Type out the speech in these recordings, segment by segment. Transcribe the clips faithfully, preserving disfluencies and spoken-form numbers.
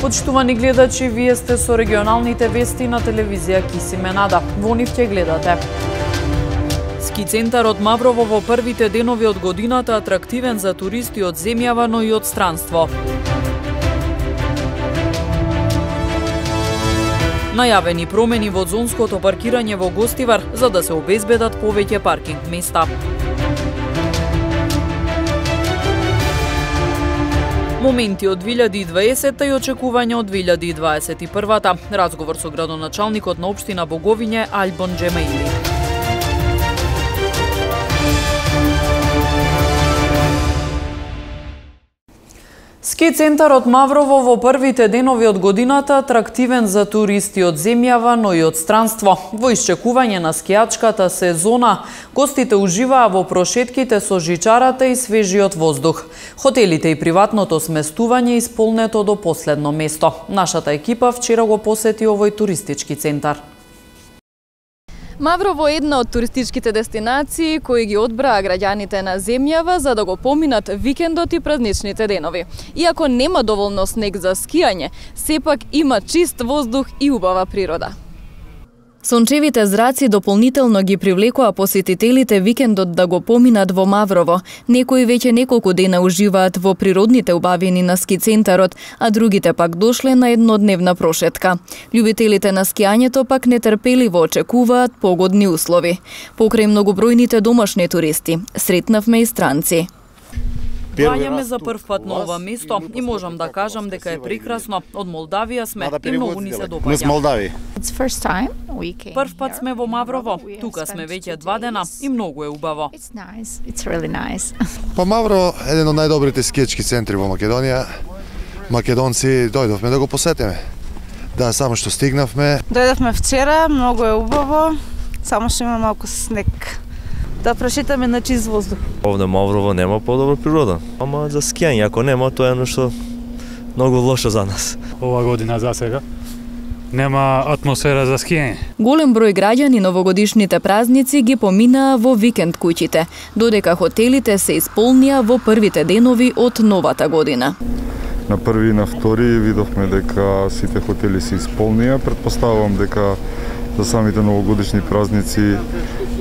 Почитувани гледачи, вие сте со регионалните вести на телевизија Кисименада. Во нив ќе гледате. Ски центарот Маврово во првите денови од годината атрактивен за туристи од земјава, но и од странство. Најавени промени во зонското паркирање во Гостивар за да се обезбедат повеќе паркинг места. Моменти од две илјади и дваесетта и очекувања од две илјади и дваесет и прва. Разговор со градоначалникот на општина Боговиње Альбон Джемеили. Ски центарот Маврово во првите денови од годината атрактивен за туристи од земјава, но и од странство. Во исчекување на скијачката сезона, гостите уживаа во прошетките со жичарата и свежиот воздух. Хотелите и приватното сместување исполнето до последно место. Нашата екипа вчера го посети овој туристички центар. Маврово е една од туристичките дестинации кои ги одбраа граѓаните на земјава за да го поминат викендот и празничните денови. Иако нема доволно снег за скијање, сепак има чист воздух и убава природа. Сончевите зраци дополнително ги привлекоа посетителите викендот да го поминат во Маврово. Некои веќе неколку дена уживаат во природните убавини на ски центарот, а другите пак дошле на еднодневна прошетка. Љубителите на скијањето пак нетрпеливо очекуваат погодни услови. Покрај многобројните домашни туристи, сретнавме и странци. Доаѓаме за прв пат на ова место и можам да кажам дека е прекрасно. Од Молдавија сме и многу ни се допаѓа. Прв пат сме во Маврово, тука сме веќе два дена и многу е убаво. Па Маврово е еден од најдобрите скијачки центри во Македонија. Македонци дојдовме да го посетиме. Да, само што стигнавме. Дојдовме вчера, многу е убаво, само што има малку снег. Да прошетаме на чист воздух. Овде Маврово нема подобра природа, ама за скијање ако нема, тоа е едно што многу лошо за нас. Ова година за сега нема атмосфера за скијање. Голем број граѓани новогодишните празници ги поминаа во викенд куќите, додека хотелите се исполнија во првите денови од новата година. На први и на втори видовме дека сите хотели се исполнија. Претпоставувам дека за самите новогодишни празници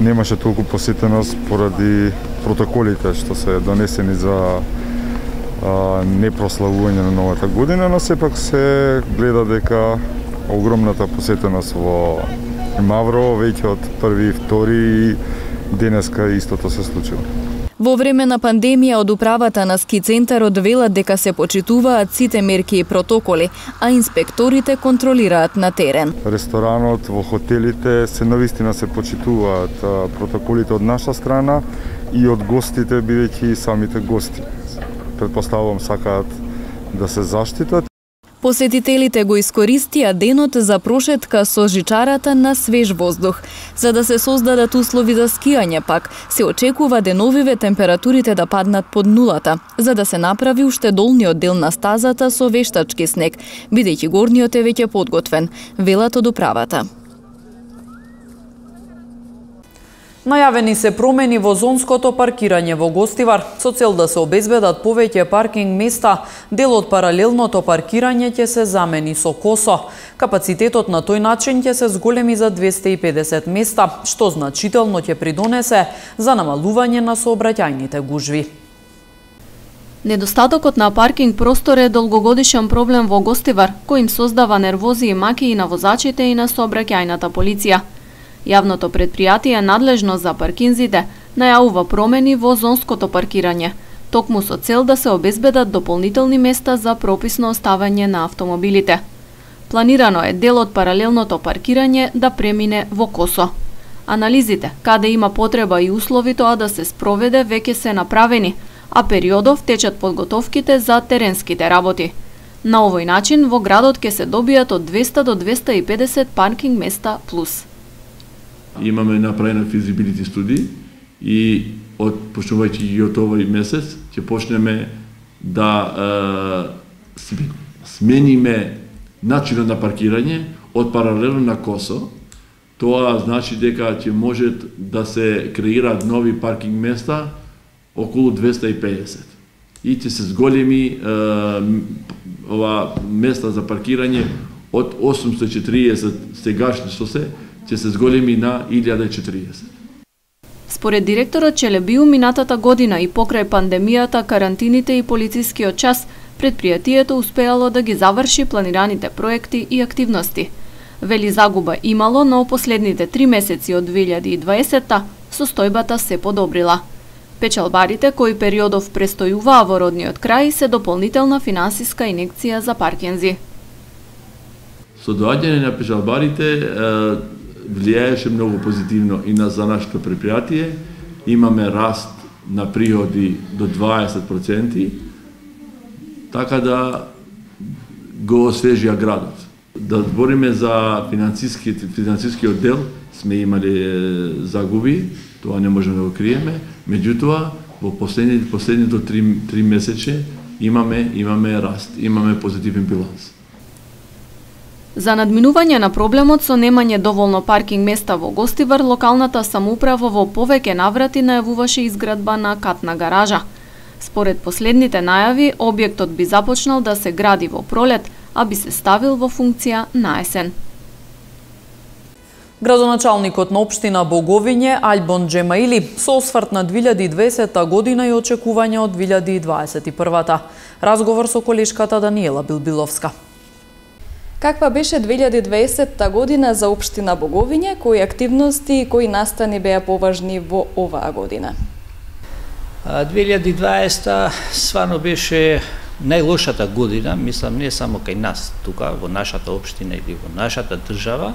немаше толку посетеност поради протоколите што се донесени за а, непрославување на новата година, но сепак се гледа дека огромната посетеност во Маврово веќе од први и втори и денеска истото се случило. Во време на пандемија од управата на ски центарот велат дека се почитуваат сите мерки и протоколи, а инспекторите контролираат на терен. Ресторанот, во хотелите се навистина се почитуваат протоколите од наша страна и од гостите, бидејќи самите гости претпоставувам сакаат да се заштитат. Посетителите го искористија денот за прошетка со жичарата на свеж воздух. За да се создадат услови за скијање пак, се очекува деновиве температурите да паднат под нулата, за да се направи уште долниот дел на стазата со вештачки снег, бидејќи горниот е веќе подготвен, велат од управата. Најавени се промени во зонското паркирање во Гостивар. Со цел да се обезбедат повеќе паркинг места, дел од паралелното паркирање ќе се замени со косо. Капацитетот на тој начин ќе се зголеми за двесте и педесет места, што значително ќе придонесе за намалување на сообраќајните гужви. Недостатокот на паркинг простор е долгогодишен проблем во Гостивар, кој им создава нервози и маки и на возачите и на сообраќајната полиција. Јавното предпријатие надлежно за паркинзите најавува промени во зонското паркирање, токму со цел да се обезбедат дополнителни места за прописно оставање на автомобилите. Планирано е дел од паралелното паркирање да премине во косо. Анализите, каде има потреба и услови тоа да се спроведе, веќе се направени, а периодов течат подготовките за теренските работи. На овој начин во градот ќе се добијат од двесте до двесте и педесет паркинг места плюс. Имаме направена физибилити студии и од почнувајќи и од овој месец ќе почнеме да е, смениме начинот на паркирање од паралелно на косо. Тоа значи дека ќе можат да се креираат нови паркинг места околу двесте и педесет. и ќе се зголеми ова места за паркирање од осумстотини и четириесет сегашни што се, ќе се зголеми на илјада и четириесет. Според директорот Челебиу, минатата година и покрај пандемијата, карантините и полицискиот час, предпријатието успеало да ги заврши планираните проекти и активности. Вели загуба имало, но последните три месеци од две илјади и дваесетта состојбата се подобрила. Печалбарите кои периодов престојуваа во родниот крај се дополнителна финансиска инекција за Паркинзи. Со доаѓање на печалбарите влијаеше многу позитивно и на за нашето предпријатие. Имаме раст на приходи до дваесет проценти, така да го освежија градот. Да збориме за финансиски финансискиот дел, сме имали загуби, тоа не можеме да го криеме, меѓутоа во последните последните три, три месече имаме имаме раст, имаме позитивен биланс. За надминување на проблемот со немање доволно паркинг места во Гостивар, локалната самоуправа во повеќе наврати најавуваше изградба на катна гаража. Според последните најави, објектот би започнал да се гради во пролет, а би се ставил во функција на есен. Градоначалникот на општина Боговиње Альбон Джемаили со осврт на две илјади и дваесетта година и очекувања од две илјади и дваесет и прва. Разговор со колешката Даниела Билбиловска. Каква беше две илјади и дваесетта година за општина Боговиње, кои активности и кои настани беа поважни во оваа година? две илјади и дваесетта сварно беше најлошата година, мислам не само кај нас тука во нашата општина или во нашата држава,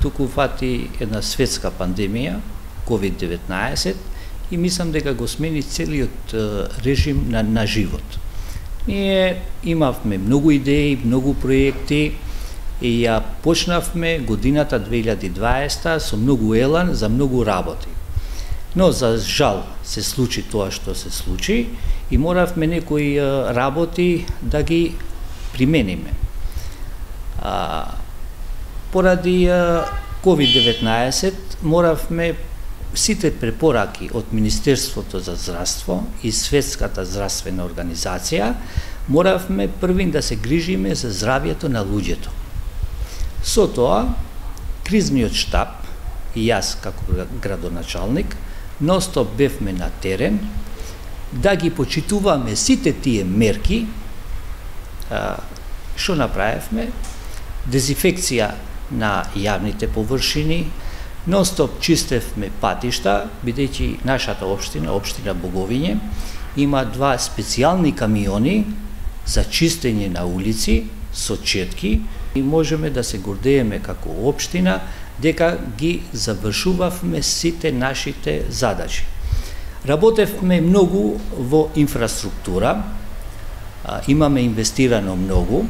туку фати една светска пандемија, ковид деветнаесет, и мислам дека го смени целиот режим на, на живот. Ние имавме многу идеи, многу проекти и ја почнавме годината две илјади и дваесетта со многу елан за многу работи. Но за жал се случи тоа што се случи и моравме некои работи да ги примениме. А, поради ковид деветнаесет моравме сите препораки од Министерството за здравство и Светската здравствена организација, моравме првин да се грижиме за здравјето на луѓето. Со тоа, кризниот штаб и јас како градоначалник ностоп бевме на терен да ги почитуваме сите тие мерки. Што направевме? Дезинфекција на јавните површини, ностоп чистевме патишта, бидејќи нашата општина, општина Боговиње, има два специјални камиони за чистење на улици со четки и можеме да се гордееме како општина дека ги завршувавме сите нашите задачи. Работевме многу во инфраструктура, имаме инвестирано многу,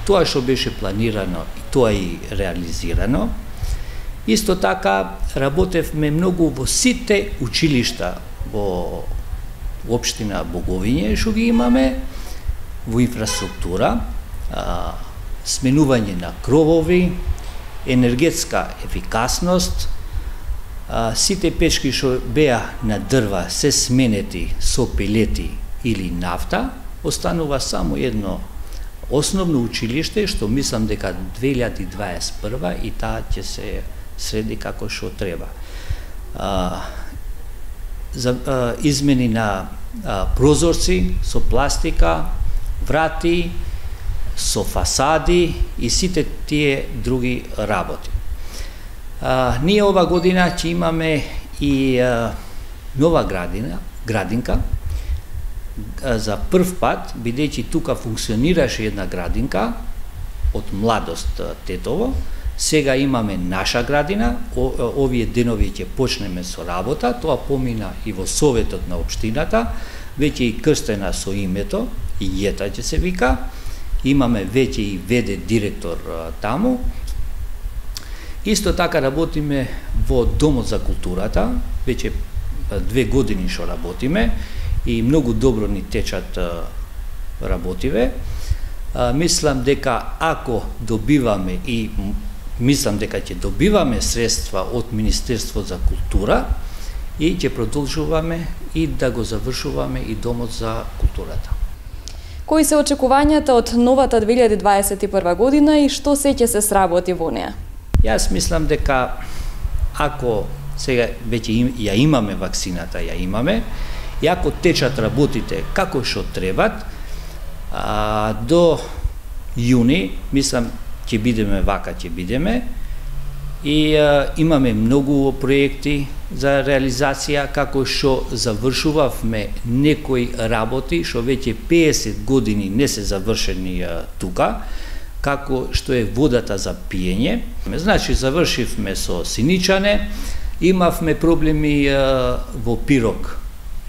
тоа што беше планирано и тоа и реализирано. Исто така работевме многу во сите училишта во општина Боговиње што ги имаме, во инфраструктура, а, сменување на кровови, енергетска ефикасност, а, сите печки што беа на дрва се сменети со пелети или нафта, останува само едно основно училиште што мислам дека две илјади дваесет и прва и таа ќе се среди како што треба. А, за а, измени на а, прозорци со пластика, врати, со фасади и сите тие други работи. А, ние ова година ќе имаме и а, нова градина, градинка, а, за прв пат, бидејќи тука функционираше една градинка од младост Тетово. Сега имаме наша градина, о, овие денови ќе почнеме со работа, тоа помина и во советот на општината, веќе и крстена со името, и Јета ќе се вика, имаме веќе и веде директор а, таму. Исто така работиме во Домот за културата, веќе две години што работиме и многу добро ни течат а, работиве. А, мислам дека ако добиваме и мислам дека ќе добиваме средства од Министерство за култура и ќе продолжуваме и да го завршуваме и домот за културата. Кои се очекувањата од новата две илјади дваесет и прва година и што се ќе се сработи во неа? Јас мислам дека ако сега веќе им, ја имаме вакцината, ја имаме, и ако течат работите како што требат, а, до јуни, мислам, ќе бидеме вака, ќе бидеме, и а, имаме многу проекти за реализација, како што завршувавме некои работи, што веќе песет години не се завршени а, тука, како што е водата за пиење. Значи, завршивме со Синичане, имавме проблеми а, во Пирок,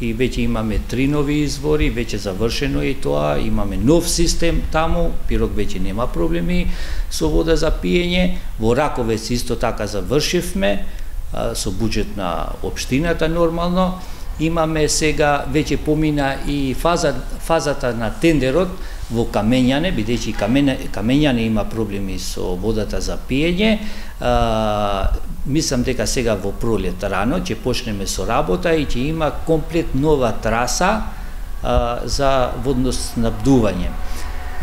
и веќе имаме три нови извори, веќе завршено е тоа, имаме нов систем таму, Пирок веќе нема проблеми со вода за пиење, во Раковец исто така завршивме, а, со буџет на општината нормално, имаме сега, веќе помина и фаза, фазата на тендерот во Камењане, бидејќи Камењане има проблеми со водата за пиење, а, мислам дека сега во пролет рано ќе почнеме со работа и ќе има комплет нова траса а, за водоснабдување.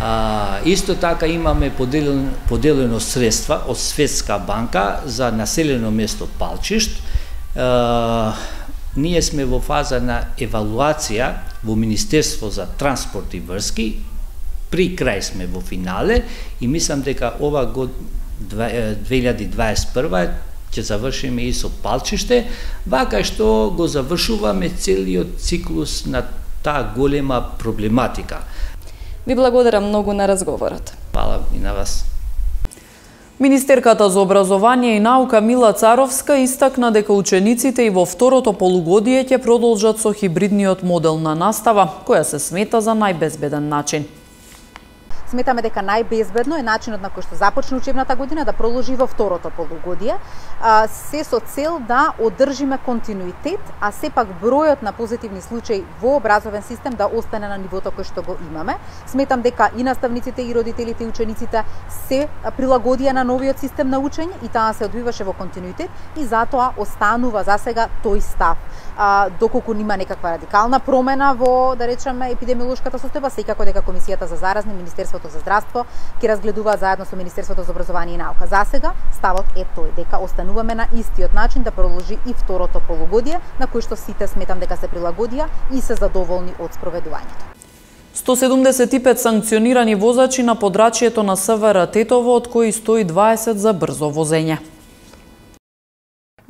А, исто така имаме поделено, поделено средства од Светска банка за населено место Палчишт. А, ние сме во фаза на евалуација во Министерство за транспорт и врски, при крај сме во финале и мислам дека ова год две илјади дваесет и прва ќе завршиме и со Палчиште, вака што го завршуваме целиот циклус на таа голема проблематика. Ви благодарам многу на разговорот. Фала и на вас. Министерката за образование и наука Мила Царовска истакна дека учениците и во второто полугодие ќе продолжат со хибридниот модел на настава, која се смета за најбезбеден начин. Сметаме дека најбезбедно е начинот на кој што започне учебната година да продолжи во второто полугодие, се со цел да одржиме континуитет, а сепак бројот на позитивни случаи во образовен систем да остане на нивото кој што го имаме. Сметам дека и наставниците, и родителите, и учениците се прилагодија на новиот систем на учење и таа се одвиваше во континуитет и затоа останува за сега тој став. А, доколку нема некаква радикална промена во, да речеме, епидемиолошката состојба, секако дека Комисијата за заразни, Министерството за здравство ќе разгледуваат заедно со Министерството за образование и наука. За сега ставот е тој дека остануваме на истиот начин да продолжи и второто полугодие, на кој што сите сметам дека се прилагодија и се задоволни од спроведувањето. сто седумдесет и пет санкционирани возачи на подрачјето на СВР Тетово, од кои сто и дваесет за брзо возење.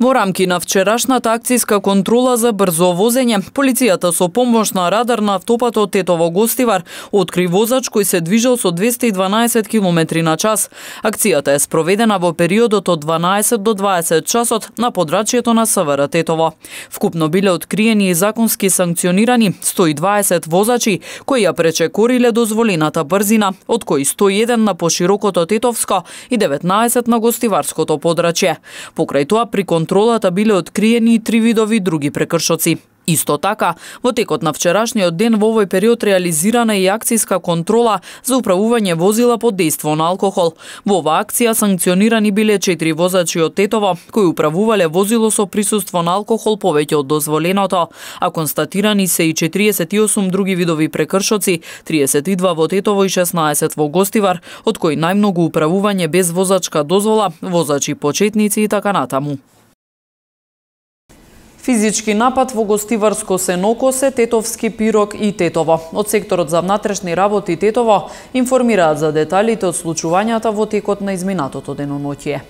Во рамки на вчерашната акцијска контрола за брзо возење, полицијата со помош на радар на автопатот Тетово-Гостивар откри возач кој се движел со двесте и дванаесет километри на час. Акцијата е спроведена во периодот од дванаесет до дваесет часот на подрачјето на СВР Тетово. Вкупно биле откриени и законски санкционирани сто и дваесет возачи кои ја пречекориле дозволената брзина, од кои сто и еден на поширокото Тетовско и деветнаесет на Гостиварското подрачје. Покрај тоа при контролата биле откриени и три видови други прекршоци. Исто така, во текот на вчерашниот ден во овој период реализирана и акцијска контрола за управување возила под дејство на алкохол. Во оваа акција санкционирани биле четири возачи од Тетово кои управувале возило со присуство на алкохол повеќе од дозволеното, а констатирани се и четириесет и осум други видови прекршоци, триесет и два во Тетово и шеснаесет во Гостивар, од кои најмногу управување без возачка дозвола, возачи почетници и така натаму. Физички напад во Гостиварско Сенокосе, Тетовски Пирок и Тетово. Од секторот за внатрешни работи Тетово информираат за деталите од случувањата во текот на изминатото деноноќие.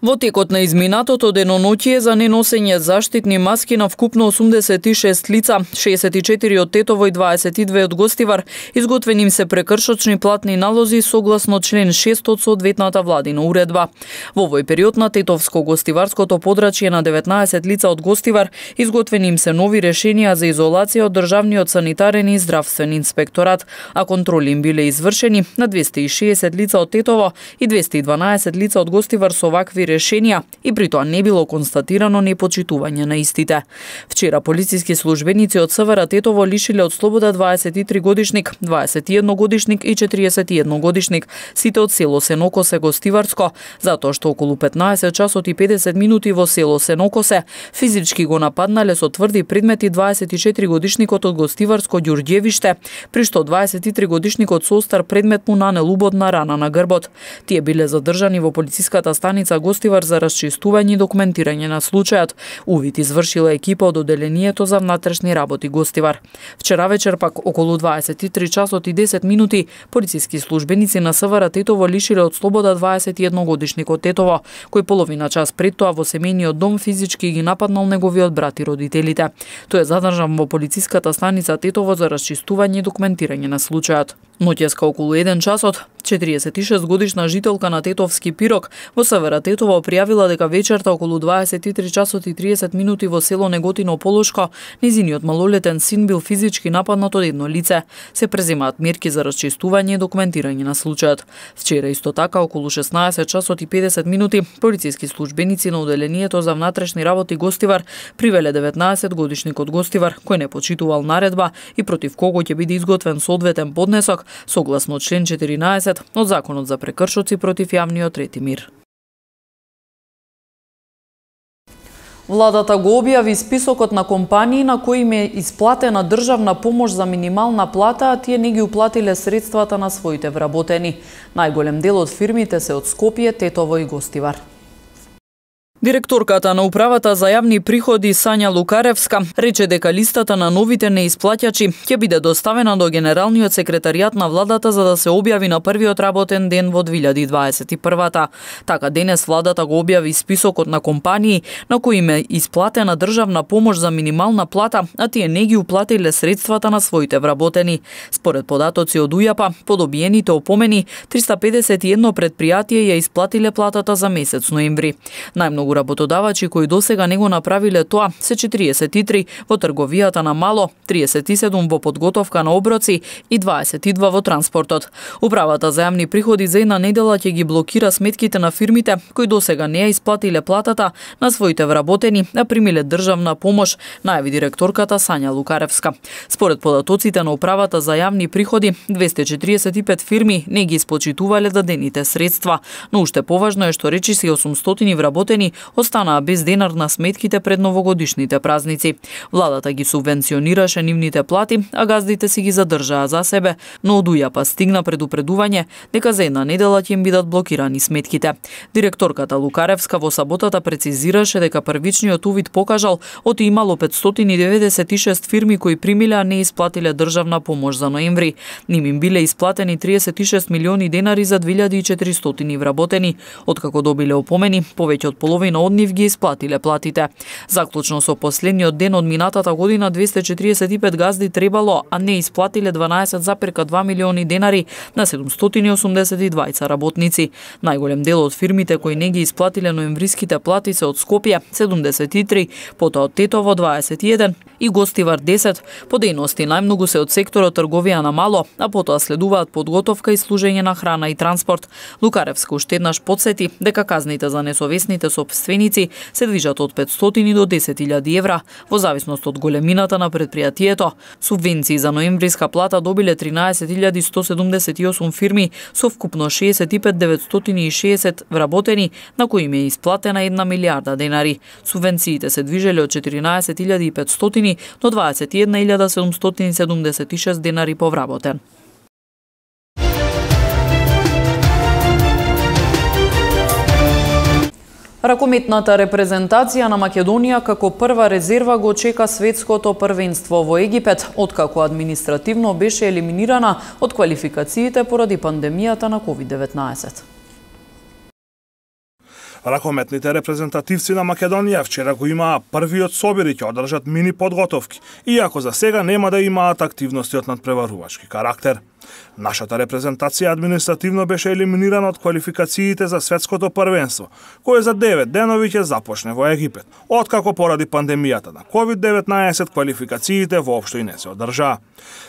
Во текот на изминатото деноноќие за неносење заштитни маски на вкупно осумдесет и шест лица, шеесет и четири од Тетово и дваесет и две од Гостивар, изготвени им се прекршочни платни налози согласно член шест од соодветната владина уредба. Во овој период на Тетовско-Гостиварското подрачје на деветнаесет лица од Гостивар изготвени им се нови решенија за изолација од Државниот санитарен и здравствен инспекторат, а контроли им биле извршени на двесте и шеесет лица од Тетово и двесте и дванаесет лица од Гостивар со вакви решенија и при тоа не било констатирано непочитување на истите. Вчера полициски службеници од СВР Тетово лишиле од слобода дваесет и три годишник, дваесет и едно годишник и четириесет и едно годишник, сите од село Сенокосе Гостиварско, затоа што околу петнаесет часот и педесет минути во село Сенокосе физички го нападнале со тврди предмети дваесет и четири годишникот од Гостиварско Ѓурѓевиште, при што дваесет и три годишникот со остар предмет му нанел убодна рана на грбот. Тие биле задржани во полициската станица Гостивар за расчистување и документирање на случајот. Увид извршила екипа од Оделението за внатрешни работи Гостивар. Вчера вечер пак околу дваесет и три часот и десет минути полициски службеници на СВР Тетово лишиле од слобода дваесет и едно годишникот Тетово, кој половина час пред тоа во семејниот дом физички ги нападнал неговиот брат и родителите. Тој е задржан во полициската станица Тетово за расчистување и документирање на случајот. Ноќеска околу еден часот, четириесет и шест годишна жителка на Тетовски Пирок во СВР Тетово пријавила дека вечерта околу дваесет и три часот и тридесет минути во село Неготино Полошко незиниот малолетен син бил физички нападнат од едно лице. Се преземаат мерки за расчистување и документирање на случајот. Вчера исто така околу шеснаесет часот и педесет минути полициски службеници на Оделението за внатрешни работи Гостивар привеле деветнаесет годишникот Гостивар кој не почитувал наредба и против кого ќе биде изготвен соодветен поднесок согласно член четиринаесет од Законот за прекршоци против јавниот ред и мир. Владата го објави списокот на компании на кои им е исплатена државна помош за минимална плата, а тие не ги уплатиле средствата на своите вработени. Најголем дел од фирмите се од Скопје, Тетово и Гостивар. Директорката на Управата за јавни приходи Сања Лукаревска рече дека листата на новите неисплаќачи ќе биде доставена до Генералниот секретаријат на владата за да се објави на првиот работен ден во две илјади дваесет и прва. Така денес владата го објави списокот на компании на кои им е исплатена државна помош за минимална плата, а тие не ги уплатиле средствата на своите вработени. Според податоци од УЈАП, по добиените опомени, триста педесет и едно предпријатие ја исплатиле платата за месец ноември. Најмногу работодавачи кои досега не го направиле тоа се четириесет и три во трговијата на мало, триесет и седум во подготовка на оброци и дваесет и два во транспортот. Управата за јавни приходи за една недела ќе ги блокира сметките на фирмите кои досега не ја исплатиле платата на своите вработени, а примиле државна помош, најави директорката Сања Лукаревска. Според податоците на Управата за јавни приходи, двесте четириесет и пет фирми не ги исплатувале дадените средства, но уште поважно е што речиси осумстотини вработени останаа без денар на сметките пред новогодишните празници. Владата ги субвенционираше нивните плати, а газдите си ги задржаа за себе, но од УЈАП стигна предупредување дека за една недела ќе им бидат блокирани сметките. Директорката Лукаревска во саботата прецизираше дека првичниот увид покажал оти имало петстотини деветдесет и шест фирми кои примиле а не исплатиле државна помош за ноември. Ним им биле исплатени триесет и шест милиони денари за две илјади и четиристотини вработени, откако добиле опомени, повеќе од половина од нив ги исплатиле платите. Заклучно со последниот ден од минатата година, двесте четириесет и пет газди требало, а не исплатиле дванаесет зарез два милиони денари на седумстотини и осумдесет и двајца работници. Најголем дел од фирмите кои не ги исплатиле ноемвриските плати се од Скопје седумдесет и три, потоа од Тетово дваесет и еден и Гостивар десет. По дејности најмногу се од секторот трговија на мало, а потоа следуваат подготовка и служење на храна и транспорт. Лукаревска уште еднаш потсети дека казните за несовесните сопственици се движат од петстотини до десет илјади евра, во зависност од големината на предпријатието. Субвенции за ноемвриска плата добиле тринаесет илјади сто седумдесет и осум фирми со вкупно шеесет и пет илјади деветстотини и шеесет вработени, на кои им е исплатена една милијарда денари. Субвенциите се движеле од четиринаесет илјади и петстотини до дваесет и една илјада седумстотини седумдесет и шест денари по вработен. Ракометната репрезентација на Македонија како прва резерва го чека светското првенство во Египет, откако административно беше елиминирана од квалификациите поради пандемијата на ковид деветнаесет. Ракометните репрезентативци на Македонија вчера го имаа првиот собир и ќе одржат мини подготовки, иако за сега нема да имаат активности од надпреварувачки карактер. Нашата репрезентација административно беше елиминирана од квалификациите за светското првенство, кое за девет денови ќе започне во Египет, откако поради пандемијата на ковид деветнаесет квалификациите воопшто и не се одржаа.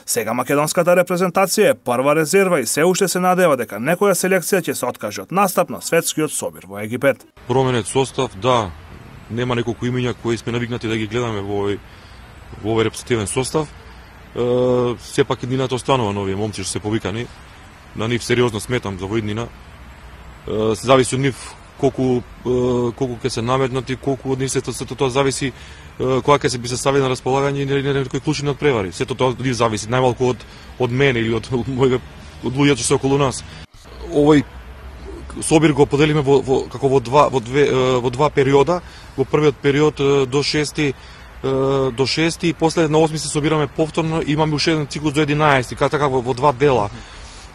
Сега македонската репрезентација е прва резерва и се уште се надева дека некоја селекција ќе се откаже од настап на светскиот собир во Египет. Променет состав, да, нема неколку имиња кои сме навикнати да ги гледаме во овој во овој репрезентативен состав. Uh, сепак иднината останува нови момци што се повикани. На нив сериозно сметам за во иднина. Uh, се зависи од нив колку uh, колку ќе се наметнати, колку од нив се сето тоа зависи uh, кога ќе се би се стави на располагање и некои клучни надпревари. Сето тоа од нив зависи, најмалку од од мене или од моите од луѓето што се околу нас. Овој собир го поделиме во, во како во два во две во два периода. Во првиот период до шести до шести и после на осми се собираме повторно, имаме уште еден циклус до единаесети, како така во, во два дела.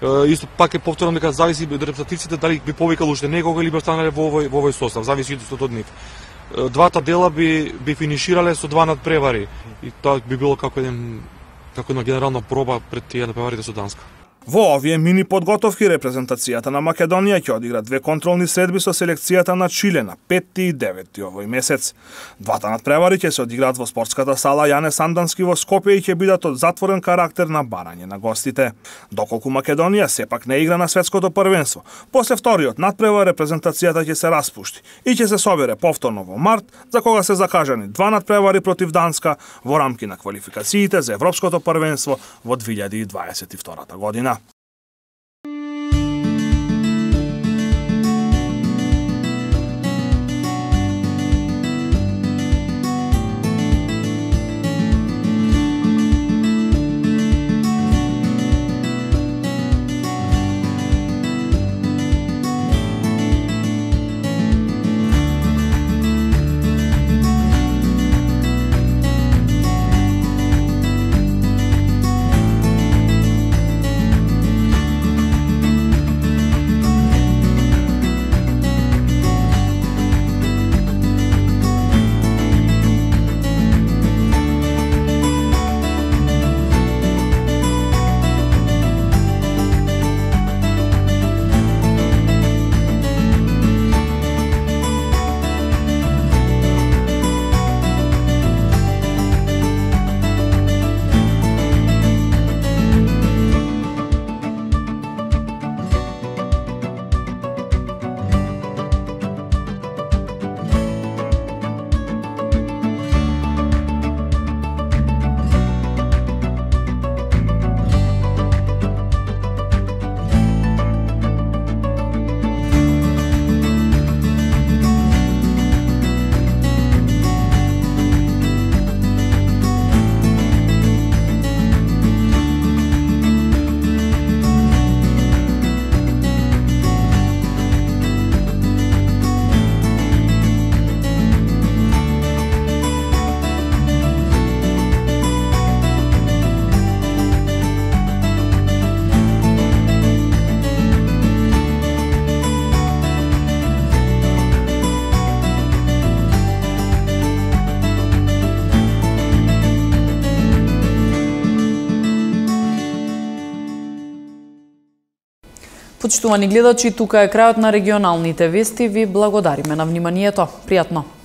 Е, исто пак е повторно дека зависи од репрезентативците дали би повикал уште некога или би останале во овој во овој состав, зависи исто од нив. Е, двата дела би би финиширале со два надпревари и тоа би било како еден како една генерална проба пред тие надпреварите со Данска. Во овие мини подготовки репрезентацијата на Македонија ќе одигра две контролни средби со селекцијата на Чиле на петти и деветти овој месец. Двата надпревари ќе се одиграат во спортската сала Јане Сандански во Скопје и ќе бидат од затворен карактер на барање на гостите. Доколку Македонија сепак не игра на светското првенство, после вториот надпревар репрезентацијата ќе се распушти и ќе се собере повторно во март, за кога се закажани два надпревари против Данска во рамки на квалификациите за Европското првенство во две илјади и дваесет и втора година. Почитувани гледачи, тука е крајот на регионалните вести. Ви благодариме на вниманието. Пријатно!